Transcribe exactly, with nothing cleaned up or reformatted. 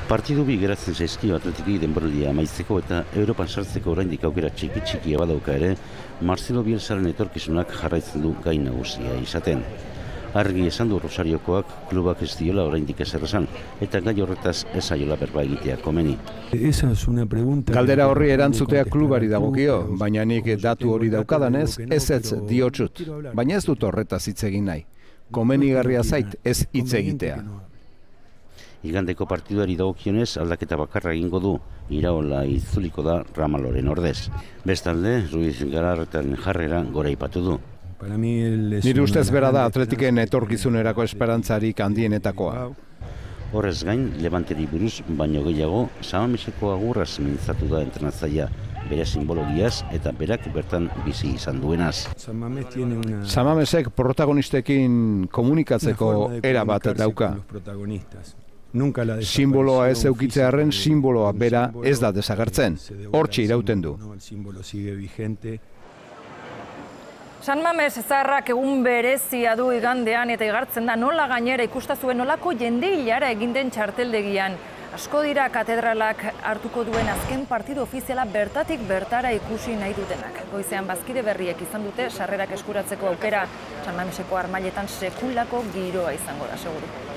Partidu bi geratzen zaizkio Atletiki denboraldia amaitzeko eta Europan sartzeko oraindik aukera txiki txikia badauka ere, Marcelo Bielsaren etorkizunak jarraitzen du gai nagusia izaten. Argi esan du Rosariokoak klubak ez diola oraindik ezer esan, eta gai horretaz ez zaiola berba egitea komeni. Galdera horri erantzutea klubari dagokio, baina nik datu hori daukadanez ez ez diotsut, baina ez dut horretaz hitz egin nahi. Komenigarria zait ez hitz egitea. Igandeko partiduari dagokionez aldaketa bakarra egingo du, Iraola itzuliko da Ramaloren ordez. Bestalde, Ruiz Galarretaren jarrera goraipatu du. Nire ustez bera da Atletiken etorkizunerako esperantzarik handienetakoa. Horrez gain, Levanteri buruz baino gehiago, Samameseko agurraz mintzatu da entrenatzailea, bere simbologiaz eta berak bertan bizi izan duenaz. Samamesek protagonistekin komunikatzeko era bat dauka. Simboloa ez eukitzearen simboloa bera ez da desagertzen. Hortxe irauten du. San Mames zaharrak egun berezia du igandean eta igartzen da nola gainera ikustazuen nolako jende hilara egin den txarteldegian. Asko dira katedralak hartuko duen azken partidu ofiziala bertatik bertara ikusi nahi dutenak. Goizean bazkide berriek izan dute sarrerak eskuratzeko aukera, San Mameseko armailetan sekulako giroa izango da seguru.